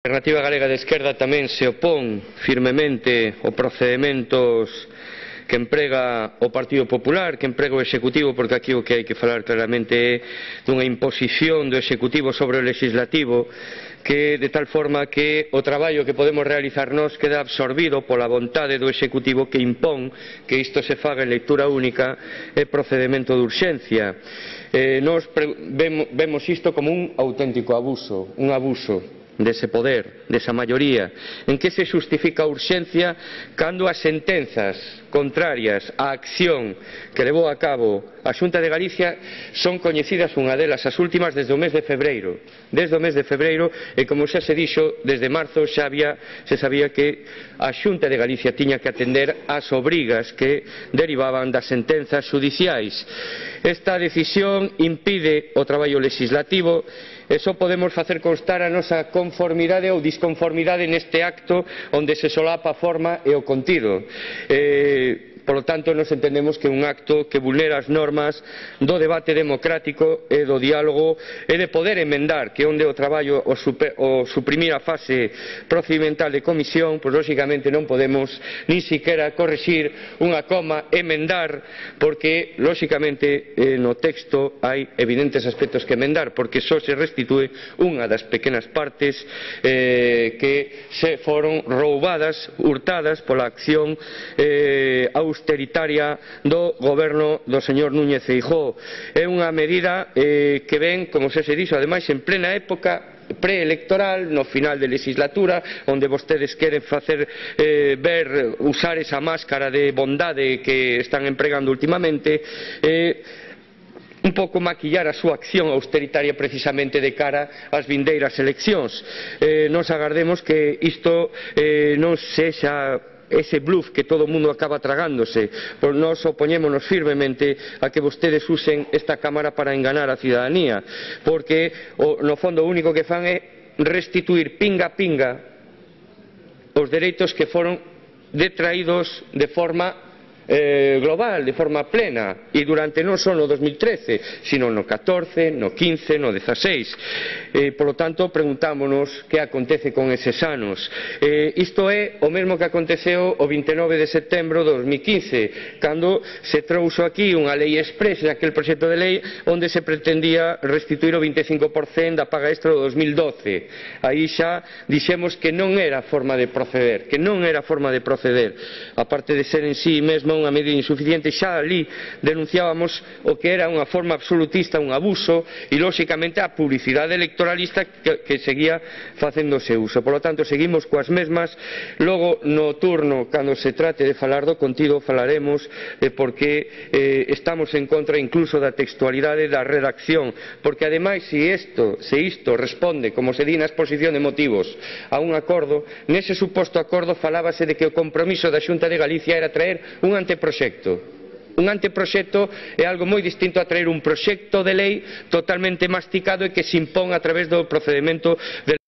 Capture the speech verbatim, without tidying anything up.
A Alternativa Galega de Esquerda tamén se opón firmemente aos procedementos que emprega o Partido Popular, que emprega o Executivo, porque aquí o que hai que falar claramente é dunha imposición do Executivo sobre o Legislativo, que de tal forma que o traballo que podemos realizar nós queda absorbido pola vontade do Executivo, que impón que isto se faga en lectura única e procedemento de urxencia. Eh, nós vemos isto como un auténtico abuso, un abuso dese poder, desa maioría, en que se xustifica a urxencia cando as sentenzas contrarias á acción que levou a cabo a Xunta de Galicia son coñecidas, unha delas, as últimas, desde o mes de febreiro desde o mes de febreiro, e como xa se dixo, desde marzo xa había, se sabía que a Xunta de Galicia tiña que atender ás obrigas que derivaban das sentenzas xudiciais. Esta decisión impide o traballo legislativo e só podemos facer constar a nosa conformidade ou disconformidade neste acto onde se solapa a forma e o contido. Eh, Por lo tanto, nos entendemos que é un acto que vulnera as normas do debate democrático e do diálogo e de poder emendar, que onde o traballo o, super, o suprimir a fase procedimental de comisión, pois lóxicamente non podemos nin siquiera corrixir unha coma, emendar, porque lóxicamente eh, no texto hai evidentes aspectos que emendar, porque só se restitúe unha das pequenas partes eh, que se foron roubadas, hurtadas pola acción eh, austeritaria do goberno do señor Núñez Feijóo. É unha medida eh, que ven, como xa se dixo, ademais en plena época preelectoral, no final de legislatura, onde vostedes queren facer eh, ver, usar esa máscara de bondade que están empregando ultimamente, eh, un pouco maquillar a súa acción austeritaria precisamente de cara ás vindeiras eleccións. Eh, nos agardemos que isto eh, non sexa ese bluff que todo o mundo acaba tragándose, pois nós opoñémonos firmemente a que vostedes usen esta Cámara para enganar a cidadanía, porque o, no fondo o único que fan é restituir pinga a pinga os dereitos que foron detraídos de forma Eh, global, de forma plena, e durante non só no dos mil trece, sino no catorce, no quince, no dezaseis. Eh, por lo tanto, preguntámonos que acontece con eses anos. Eh, isto é o mesmo que aconteceu o vinte e nove de setembro de dos mil quince, cando se trouxo aquí unha lei expresa, aquel proxecto de lei onde se pretendía restituir o vinte e cinco por cento da paga extra do dos mil doce. Aí xa dixemos que non era forma de proceder, que non era forma de proceder, aparte de ser en sí mesmo unha medida insuficiente. Xa ali denunciábamos o que era unha forma absolutista, un abuso, e lóxicamente a publicidade electoralista que, que seguía facéndose uso. Por lo tanto, seguimos coas mesmas. Logo, no turno, cando se trate de falar do contido, falaremos de por que eh, estamos en contra incluso da textualidade da redacción, porque ademais, se isto, se isto responde, como se di na exposición de motivos, a un acordo, nese suposto acordo falábase de que o compromiso da Xunta de Galicia era traer un anteproxecto. Un anteproxecto é algo moi distinto a traer un proxecto de lei totalmente masticado e que se impón a través do procedemento de